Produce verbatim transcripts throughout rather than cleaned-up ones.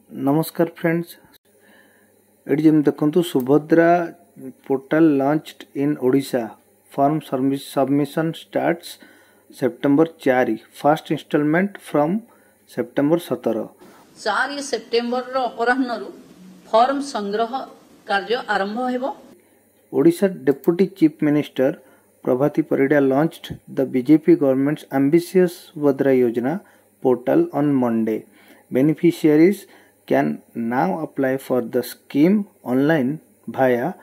ନମସ୍କାର ଫ୍ରେଣ୍ଡସ୍ ଏଠି ଯେମିତି ଦେଖନ୍ତୁ Subhadra portal launched in Odisha form submission starts September ଚାରି ଫାଷ୍ଟ ଇନଷ୍ଟଲମେଣ୍ଟ ଫ୍ରମ୍ ସେପ୍ଟେମ୍ବର ସତର ଚାରି ସେପ୍ଟେମ୍ବରର ଅପରାହ୍ନରୁ ଫର୍ମ ସଂଗ୍ରହ କାର୍ଯ୍ୟ ଆରମ୍ଭ ହେବ Odisha Deputy Chief Minister Prabhati Parida launched the BJP government's ambitious Subhadra Yojana portal on Monday. Beneficiaries can now apply for the scheme online via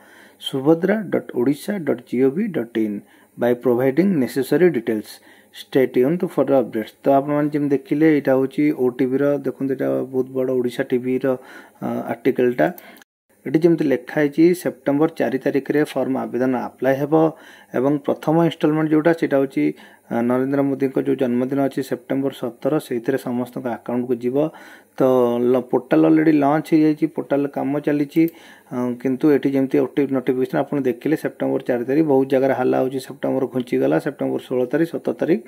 subhadra.odisha.gov.in by providing necessary details. Stay tuned for the updates. ତ ଆପଣମାନେ ଯେମିତି ଦେଖିଲେ ଏଇଟା ହେଉଛି ଓଟିଭିର ଦେଖନ୍ତୁ ଏଇଟା ବହୁତ ବଡ଼ ଓଡ଼ିଶା ଟିଭିର ଆର୍ଟିକଲଟା ଏଠି ଯେମିତି ଲେଖା ହେଇଛି ସେପ୍ଟେମ୍ବର ଚାରି ତାରିଖରେ ଫର୍ମ ଆବେଦନ ଆପ୍ଲାଏ ହେବ ଏବଂ ପ୍ରଥମ ଇନଷ୍ଟଲମେଣ୍ଟ ଯେଉଁଟା ସେଇଟା ହେଉଛି ନରେନ୍ଦ୍ର ମୋଦିଙ୍କ ଯେଉଁ ଜନ୍ମଦିନ ଅଛି ସେପ୍ଟେମ୍ବର ସତର ସେଇଥିରେ ସମସ୍ତଙ୍କ ଆକାଉଣ୍ଟକୁ ଯିବ ତ ପୋର୍ଟାଲ ଅଲରେଡ଼ି ଲଞ୍ଚ ହେଇଯାଇଛି ପୋର୍ଟାଲ କାମ ଚାଲିଛି କିନ୍ତୁ ଏଠି ଯେମିତି ନୋଟିଫିକେସନ୍ ଆପଣ ଦେଖିଲେ ସେପ୍ଟେମ୍ବର ଚାରି ତାରିଖ ବହୁତ ଜାଗାରେ ହାଲା ହେଉଛି ସେପ୍ଟେମ୍ବର ଘୁଞ୍ଚିଗଲା ସେପ୍ଟେମ୍ବର ଷୋହଳ ତାରିଖ ସତର ତାରିଖ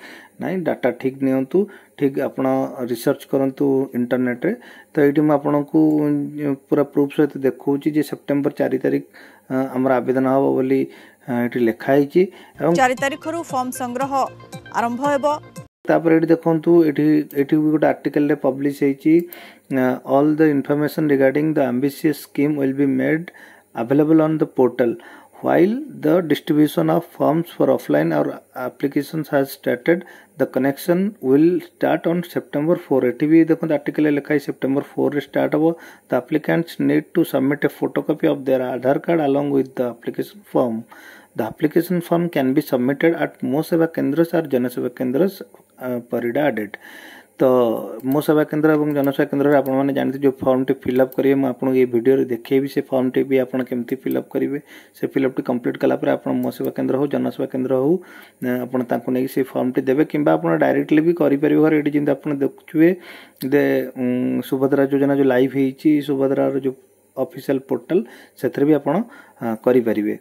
ନାଇଁ ଡାଟା ଠିକ୍ ନିଅନ୍ତୁ ଠିକ୍ ଆପଣ ରିସର୍ଚ୍ଚ କରନ୍ତୁ ଇଣ୍ଟରନେଟ୍ରେ ତ ଏଇଠି ମୁଁ ଆପଣଙ୍କୁ ପୁରା ପ୍ରୁଫ୍ ସହିତ ଦେଖାଉଛି ଯେ ସେପ୍ଟେମ୍ବର ଚାରି ତାରିଖ ଆମର ଆବେଦନ ହେବ ବୋଲି ଏଠି ଲେଖା ହେଇଛି ଏବଂ ଚାରି ତାରିଖରୁ ଫର୍ମ ସଂଗ୍ରହ ଆରମ୍ଭ ହେବ ତାପରେ ଏଠି ଦେଖନ୍ତୁ ଏଠି ଏଠି ବି ଗୋଟେ ଆର୍ଟିକଲରେ ପବ୍ଲିଶ ହେଇଛି all the information regarding the ambitious scheme will be made available on the portal while the distribution of forms for offline or applications has started the collection will start on september four ଏଠି ବି ଦେଖନ୍ତୁ ଆର୍ଟିକଲରେ ଲେଖା ହେଇଛି September ଫୋର୍ରେ start ହେବ the applicants need to submit a photocopy of their Aadhaar card along with the application form the application form can be submitted at Mo Seva Kendras or Janaseva Kendras Parida added ତ ମୋ ସେବା କେନ୍ଦ୍ର ଏବଂ ଜନସେବା କେନ୍ଦ୍ରରେ ଆପଣମାନେ ଜାଣିଥିବେ ଯେଉଁ ଫର୍ମଟି ଫିଲ୍ଅପ୍ କରିବେ ମୁଁ ଆପଣଙ୍କୁ ଏଇ ଭିଡ଼ିଓରେ ଦେଖେଇବି ସେ ଫର୍ମଟି ବି ଆପଣ କେମିତି ଫିଲ୍ଅପ୍ କରିବେ ସେ ଫିଲ୍ଅପ୍ଟି କମ୍ପ୍ଲିଟ୍ କଲା ପରେ ଆପଣ ମୋ ସେବା କେନ୍ଦ୍ର ହେଉ ଜନସେବା କେନ୍ଦ୍ର ହେଉ ଆପଣ ତାଙ୍କୁ ନେଇକି ସେ ଫର୍ମଟି ଦେବେ କିମ୍ବା ଆପଣ ଡାଇରେକ୍ଟଲି ବି କରିପାରିବେ ଘରେ ଏଠି ଯେମିତି ଆପଣ ଦେଖୁଥିବେ ଯେ ସୁଭଦ୍ରା ଯୋଜନା ଯେଉଁ ଲାଇଭ୍ ହେଇଛି ସୁଭଦ୍ରାର ଯେଉଁ ଅଫିସିଆଲ ପୋର୍ଟାଲ ସେଥିରେ ବି ଆପଣ କରିପାରିବେ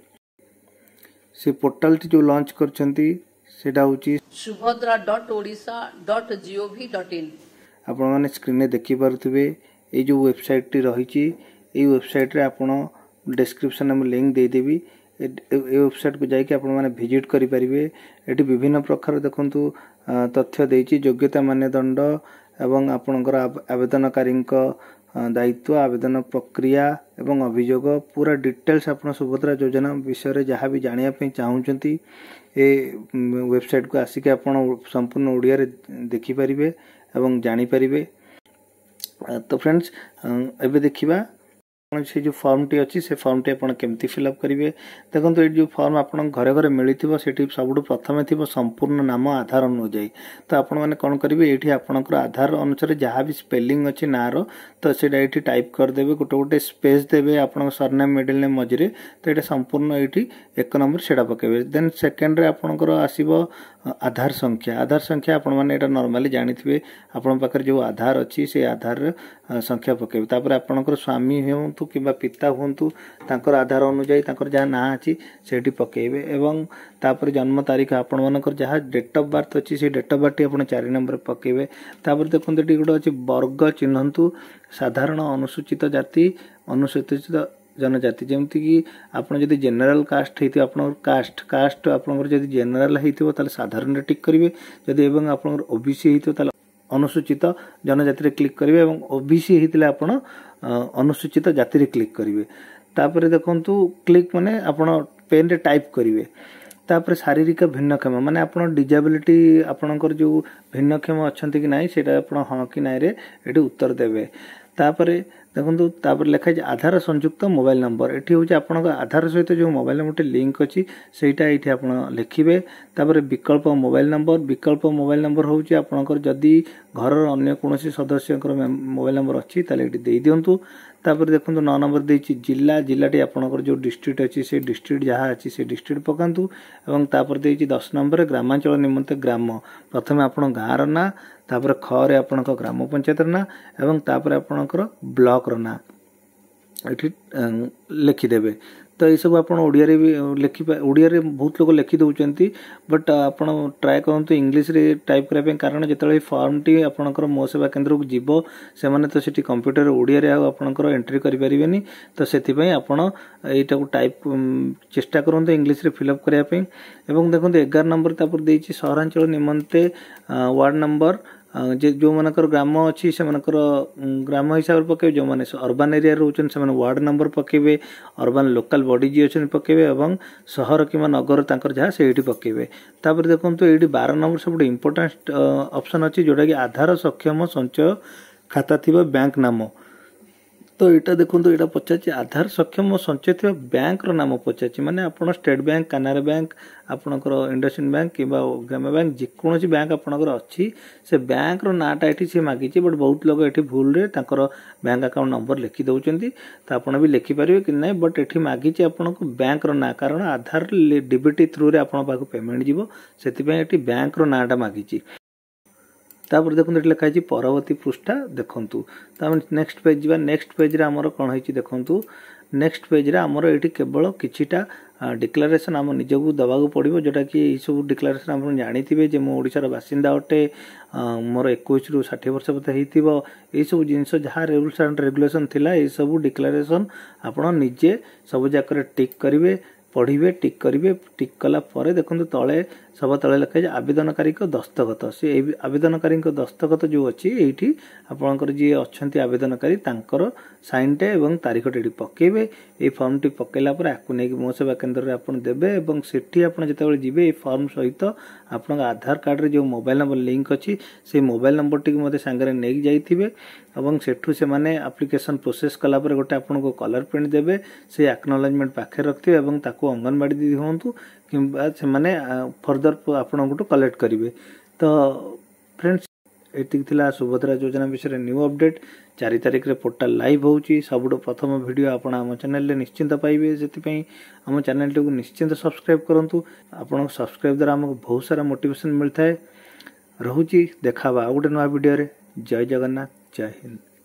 ସେ ପୋର୍ଟାଲଟି ଯେଉଁ ଲଞ୍ଚ କରିଛନ୍ତି ସେଇଟା ହେଉଛି Subhadra dot Odisha dot GOV dot in ଆପଣମାନେ ସ୍କ୍ରିନ୍ରେ ଦେଖିପାରୁଥିବେ ଏଇ ଯେଉଁ ୱେବସାଇଟ୍ଟି ରହିଛି ଏଇ ୱେବସାଇଟ୍ରେ ଆପଣ ଡେସ୍କ୍ରିପସନ୍ରେ ମୁଁ ଲିଙ୍କ୍ ଦେଇଦେବି ଏ ୱେବସାଇଟ୍କୁ ଯାଇକି ଆପଣମାନେ ଭିଜିଟ୍ କରିପାରିବେ ଏଠି ବିଭିନ୍ନ ପ୍ରକାର ଦେଖନ୍ତୁ ତଥ୍ୟ ଦେଇଛି ଯୋଗ୍ୟତା ମାନଦଣ୍ଡ ଏବଂ ଆପଣଙ୍କର ଆବେଦନକାରୀଙ୍କ ଦାୟିତ୍ୱ ଆବେଦନ ପ୍ରକ୍ରିୟା ଏବଂ ଅଭିଯୋଗ ପୁରା ଡିଟେଲ୍ସ ଆପଣ ସୁଭଦ୍ରା ଯୋଜନା ବିଷୟରେ ଯାହା ବି ଜାଣିବା ପାଇଁ ଚାହୁଁଛନ୍ତି ଏ ୱେବସାଇଟ୍କୁ ଆସିକି ଆପଣ ସମ୍ପୂର୍ଣ୍ଣ ଓଡ଼ିଆରେ ଦେଖିପାରିବେ ଏବଂ ଜାଣିପାରିବେ ତ ଫ୍ରେଣ୍ଡସ୍ ଏବେ ଦେଖିବା ସେ ଯେଉଁ ଫର୍ମଟି ଅଛି ସେ ଫର୍ମଟି ଆପଣ କେମିତି ଫିଲ୍ଅପ୍ କରିବେ ଦେଖନ୍ତୁ ଏଇଠି ଯେଉଁ ଫର୍ମ ଆପଣଙ୍କ ଘରେ ଘରେ ମିଳିଥିବ ସେଠି ସବୁଠୁ ପ୍ରଥମେ ଥିବ ସମ୍ପୂର୍ଣ୍ଣ ନାମ ଆଧାର ଅନୁଯାୟୀ ତ ଆପଣମାନେ କ'ଣ କରିବେ ଏଇଠି ଆପଣଙ୍କର ଆଧାର ଅନୁସାରେ ଯାହା ବି ସ୍ପେଲିଂ ଅଛି ନାଁର ତ ସେଇଟା ଏଇଠି ଟାଇପ୍ କରିଦେବେ ଗୋଟେ ଗୋଟେ ସ୍ପେସ୍ ଦେବେ ଆପଣଙ୍କ ସରନେମ୍ ମିଡିଲ୍ ନେମ୍ ମଝିରେ ତ ଏଇଟା ସମ୍ପୂର୍ଣ୍ଣ ଏଇଠି ଏକ ନମ୍ବର ସେଇଟା ପକାଇବେ ଦେନ୍ ସେକେଣ୍ଡରେ ଆପଣଙ୍କର ଆସିବ ଆଧାର ସଂଖ୍ୟା ଆଧାର ସଂଖ୍ୟା ଆପଣମାନେ ଏଇଟା ନର୍ମାଲି ଜାଣିଥିବେ ଆପଣଙ୍କ ପାଖରେ ଯେଉଁ ଆଧାର ଅଛି ସେଇ ଆଧାରର ସଂଖ୍ୟା ପକାଇବେ ତାପରେ ଆପଣଙ୍କର ସ୍ୱାମୀ ହୁଅନ୍ତୁ କିମ୍ବା ପିତା ହୁଅନ୍ତୁ ତାଙ୍କର ଆଧାର ଅନୁଯାୟୀ ତାଙ୍କର ଯାହା ନାଁ ଅଛି ସେଇଠି ପକାଇବେ ଏବଂ ତାପରେ ଜନ୍ମ ତାରିଖ ଆପଣମାନଙ୍କର ଯାହା ଡେଟ୍ ଅଫ୍ ବାର୍ଥ ଅଛି ସେଇ ଡେଟ୍ ଅଫ୍ ବାର୍ଥଟି ଆପଣ ଚାରି ନମ୍ବରରେ ପକାଇବେ ତାପରେ ଦେଖନ୍ତୁ ଏଠି ଗୋଟେ ଅଛି ବର୍ଗ ଚିହ୍ନନ୍ତୁ ସାଧାରଣ ଅନୁସୂଚିତ ଜାତି ଅନୁସୂଚିତ ଜନଜାତି ଯେମିତିକି ଆପଣ ଯଦି ଜେନେରାଲ କାଷ୍ଟ ହେଇଥିବ ଆପଣଙ୍କର କାଷ୍ଟ କାଷ୍ଟ ଆପଣଙ୍କର ଯଦି ଜେନେରାଲ ହେଇଥିବ ତାହେଲେ ସାଧାରଣରେ ଟିକ୍ କରିବେ ଯଦି ଏବଂ ଆପଣଙ୍କର ଓ ବି ସି ହେଇଥିବ ତାହେଲେ ଅନୁସୂଚିତ ଜନଜାତିରେ କ୍ଲିକ୍ କରିବେ ଏବଂ ଓ ବି ସି ହେଇଥିଲେ ଆପଣ ଅନୁସୂଚିତ ଜାତିରେ କ୍ଲିକ୍ କରିବେ ତାପରେ ଦେଖନ୍ତୁ କ୍ଲିକ୍ ମାନେ ଆପଣ ପେନ୍ରେ ଟାଇପ୍ କରିବେ ତାପରେ ଶାରୀରିକ ଭିନ୍ନକ୍ଷମ ମାନେ ଆପଣ ଡିଜାବିଲିଟି ଆପଣଙ୍କର ଯେଉଁ ଭିନ୍ନକ୍ଷମ ଅଛନ୍ତି କି ନାହିଁ ସେଇଟା ଆପଣ ହଁ କି ନାଇଁରେ ଏଠି ଉତ୍ତର ଦେବେ ତାପରେ ଦେଖନ୍ତୁ ତାପରେ ଲେଖା ହେଇଛି ଆଧାର ସଂଯୁକ୍ତ ମୋବାଇଲ ନମ୍ବର ଏଠି ହେଉଛି ଆପଣଙ୍କ ଆଧାର ସହିତ ଯେଉଁ ମୋବାଇଲ ନମ୍ବରଟି ଲିଙ୍କ ଅଛି ସେଇଟା ଏଇଠି ଆପଣ ଲେଖିବେ ତାପରେ ବିକଳ୍ପ ମୋବାଇଲ ନମ୍ବର ବିକଳ୍ପ ମୋବାଇଲ ନମ୍ବର ହେଉଛି ଆପଣଙ୍କର ଯଦି ଘରର ଅନ୍ୟ କୌଣସି ସଦସ୍ୟଙ୍କର ମୋବାଇଲ ନମ୍ବର ଅଛି ତାହେଲେ ଏଠି ଦେଇଦିଅନ୍ତୁ ତାପରେ ଦେଖନ୍ତୁ ନଅ ନମ୍ବର ଦେଇଛି ଜିଲ୍ଲା ଜିଲ୍ଲାଟି ଆପଣଙ୍କର ଯେଉଁ ଡିଷ୍ଟ୍ରିକ୍ଟ ଅଛି ସେଇ ଡିଷ୍ଟ୍ରିକ୍ଟ ଯାହା ଅଛି ସେ ଡିଷ୍ଟ୍ରିକ୍ଟ ପକାନ୍ତୁ ଏବଂ ତାପରେ ଦେଇଛି ଦଶ ନମ୍ବରରେ ଗ୍ରାମାଞ୍ଚଳ ନିମନ୍ତେ ଗ୍ରାମ ପ୍ରଥମେ ଆପଣ ଗାଁର ନାଁ ତାପରେ ଖରେ ଆପଣଙ୍କ ଗ୍ରାମ ପଞ୍ଚାୟତର ନାଁ ଏବଂ ତାପରେ ଆପଣଙ୍କର ବ୍ଲକର ନାଁ ଏଠି ଲେଖିଦେବେ ତ ଏଇସବୁ ଆପଣ ଓଡ଼ିଆରେ ବି ଲେଖି ଓଡ଼ିଆରେ ବହୁତ ଲୋକ ଲେଖି ଦେଉଛନ୍ତି ବଟ୍ ଆପଣ ଟ୍ରାଏ କରନ୍ତୁ ଇଂଲିଶରେ ଟାଇପ୍ କରିବା ପାଇଁ କାରଣ ଯେତେବେଳେ ଏଇ ଫର୍ମଟି ଆପଣଙ୍କର ମୋ ସେବା କେନ୍ଦ୍ରକୁ ଯିବ ସେମାନେ ତ ସେଠି କମ୍ପ୍ୟୁଟର ଓଡ଼ିଆରେ ଆଉ ଆପଣଙ୍କର ଏଣ୍ଟ୍ରି କରିପାରିବେନି ତ ସେଥିପାଇଁ ଆପଣ ଏଇଟାକୁ ଟାଇପ୍ ଚେଷ୍ଟା କରନ୍ତୁ ଇଂଲିଶରେ ଫିଲ୍ଅପ୍ କରିବା ପାଇଁ ଏବଂ ଦେଖନ୍ତୁ ଏଗାର ନମ୍ବର ତାପରେ ଦେଇଛି ସହରାଞ୍ଚଳ ନିମନ୍ତେ ୱାର୍ଡ଼ ନମ୍ବର ଯେ ଯେଉଁମାନଙ୍କର ଗ୍ରାମ ଅଛି ସେମାନଙ୍କର ଗ୍ରାମ ହିସାବରେ ପକାଇବେ ଯେଉଁମାନେ ଅର୍ବାନ୍ ଏରିଆରେ ରହୁଛନ୍ତି ସେମାନେ ୱାର୍ଡ଼ ନମ୍ବର ପକାଇବେ ଅର୍ବାନ୍ ଲୋକାଲ୍ ବଡି ଯିଏ ଅଛନ୍ତି ପକାଇବେ ଏବଂ ସହର କିମ୍ବା ନଗର ତାଙ୍କର ଯାହା ସେଇଠି ପକାଇବେ ତାପରେ ଦେଖନ୍ତୁ ଏଇଠି ବାର ନମ୍ବର ସବୁଠୁ ଇମ୍ପୋର୍ଟାଣ୍ଟ ଅପସନ୍ ଅଛି ଯେଉଁଟାକି ଆଧାର ସକ୍ଷମ ସଞ୍ଚୟ ଖାତା ଥିବା ବ୍ୟାଙ୍କ ନାମ ତ ଏଇଟା ଦେଖନ୍ତୁ ଏଇଟା ପଚାରିଛି ଆଧାର ସକ୍ଷମ ସଞ୍ଚୟ ଥିବା ବ୍ୟାଙ୍କର ନାମ ପଚାରିଛି ମାନେ ଆପଣ ଷ୍ଟେଟ୍ ବ୍ୟାଙ୍କ କାନାରା ବ୍ୟାଙ୍କ ଆପଣଙ୍କର ଇଣ୍ଡସ୍ଇଣ୍ଡ ବ୍ୟାଙ୍କ କିମ୍ବା ଗ୍ରାମ୍ୟ ବ୍ୟାଙ୍କ ଯେକୌଣସି ବ୍ୟାଙ୍କ ଆପଣଙ୍କର ଅଛି ସେ ବ୍ୟାଙ୍କର ନାଁଟା ଏଠି ସେ ମାଗିଛି ବଟ୍ ବହୁତ ଲୋକ ଏଠି ଭୁଲରେ ତାଙ୍କର ବ୍ୟାଙ୍କ ଆକାଉଣ୍ଟ ନମ୍ବର ଲେଖି ଦେଉଛନ୍ତି ତ ଆପଣ ବି ଲେଖିପାରିବେ କି ନାହିଁ ବଟ୍ ଏଠି ମାଗିଛି ଆପଣଙ୍କୁ ବ୍ୟାଙ୍କର ନାଁ କାରଣ ଆଧାର ଡିବିଟି ଥ୍ରୁରେ ଆପଣଙ୍କ ପାଖକୁ ପେମେଣ୍ଟ ଯିବ ସେଥିପାଇଁ ଏଠି ବ୍ୟାଙ୍କର ନାଁଟା ମାଗିଛି ତାପରେ ଦେଖନ୍ତୁ ଏଠି ଲେଖା ହେଇଛି ପରବର୍ତ୍ତୀ ପୃଷ୍ଠା ଦେଖନ୍ତୁ ତ ଆମେ ନେକ୍ସଟ ପେଜ୍ ଯିବା ନେକ୍ସଟ ପେଜ୍ରେ ଆମର କ'ଣ ହେଇଛି ଦେଖନ୍ତୁ ନେକ୍ସଟ ପେଜ୍ରେ ଆମର ଏଇଠି କେବଳ କିଛିଟା ଡିକ୍ଲାରେସନ୍ ଆମ ନିଜକୁ ଦେବାକୁ ପଡ଼ିବ ଯେଉଁଟାକି ଏଇସବୁ ଡିକ୍ଲାରେସନ୍ ଆପଣ ଜାଣିଥିବେ ଯେ ମୁଁ ଓଡ଼ିଶାର ବାସିନ୍ଦା ଅଟେ ମୋର ଏକୋଇଶରୁ ଷାଠିଏ ବର୍ଷ ବୋଧେ ହେଇଥିବ ଏଇସବୁ ଜିନିଷ ଯାହା ରୁଲ୍ସ ଆଣ୍ଡ ରେଗୁଲେସନ୍ ଥିଲା ଏଇସବୁ ଡିକ୍ଲାରେସନ୍ ଆପଣ ନିଜେ ସବୁ ଯାକରେ ଟିକ୍ କରିବେ ପଢ଼ିବେ ଟିକ୍ କରିବେ ଟିକ୍ କଲା ପରେ ଦେଖନ୍ତୁ ତଳେ ସବା ତଳେ ଲେଖା ହେଇଛି ଆବେଦନକାରୀଙ୍କ ଦସ୍ତଖତ ସେ ଏଇ ଆବେଦନକାରୀଙ୍କ ଦସ୍ତଖତ ଯେଉଁ ଅଛି ଏଇଠି ଆପଣଙ୍କର ଯିଏ ଅଛନ୍ତି ଆବେଦନକାରୀ ତାଙ୍କର ସାଇନ୍ଟେ ଏବଂ ତାରିଖଟି ଏଠି ପକାଇବେ ଏଇ ଫର୍ମଟି ପକାଇଲା ପରେ ଆକୁ ନେଇକି ମୋ ସେବା କେନ୍ଦ୍ରରେ ଆପଣ ଦେବେ ଏବଂ ସେଠି ଆପଣ ଯେତେବେଳେ ଯିବେ ଏଇ ଫର୍ମ ସହିତ ଆପଣଙ୍କ ଆଧାର କାର୍ଡ଼ରେ ଯେଉଁ ମୋବାଇଲ ନମ୍ବର ଲିଙ୍କ ଅଛି ସେଇ ମୋବାଇଲ ନମ୍ବରଟିକୁ ମଧ୍ୟ ସାଙ୍ଗରେ ନେଇକି ଯାଇଥିବେ ଏବଂ ସେଠୁ ସେମାନେ ଆପ୍ଲିକେସନ୍ ପ୍ରୋସେସ୍ କଲା ପରେ ଗୋଟେ ଆପଣଙ୍କୁ କଲର୍ ପ୍ରିଣ୍ଟ ଦେବେ ସେଇ ଆକ୍ନୋଲେଜମେଣ୍ଟ ପାଖରେ ରଖିଥିବେ ଏବଂ ତାକୁ ଅଙ୍ଗନବାଡ଼ି ଦିଦି ହୁଅନ୍ତୁ କିମ୍ବା ସେମାନେ ଫର୍ଦର ଆପଣଙ୍କଠୁ କଲେକ୍ଟ କରିବେ ତ ଫ୍ରେଣ୍ଡସ୍ ଏତିକି ଥିଲା ସୁଭଦ୍ରା ଯୋଜନା ବିଷୟରେ ନ୍ୟୁ ଅପଡେଟ୍ ଚାରି ତାରିଖରେ ପୋର୍ଟାଲ ଲାଇଭ୍ ହେଉଛି ସବୁଠୁ ପ୍ରଥମ ଭିଡ଼ିଓ ଆପଣ ଆମ ଚ୍ୟାନେଲରେ ନିଶ୍ଚିନ୍ତ ପାଇବେ ସେଥିପାଇଁ ଆମ ଚ୍ୟାନେଲଟିକୁ ନିଶ୍ଚିନ୍ତ ସବସ୍କ୍ରାଇବ୍ କରନ୍ତୁ ଆପଣଙ୍କ ସବସ୍କ୍ରାଇବ୍ ଦ୍ୱାରା ଆମକୁ ବହୁତ ସାରା ମୋଟିଭେସନ୍ ମିଳିଥାଏ ରହୁଛି ଦେଖା ହେବା ଆଉ ଗୋଟେ ନୂଆ ଭିଡ଼ିଓରେ ଜୟ ଜଗନ୍ନାଥ ଜୟ ହିନ୍ଦ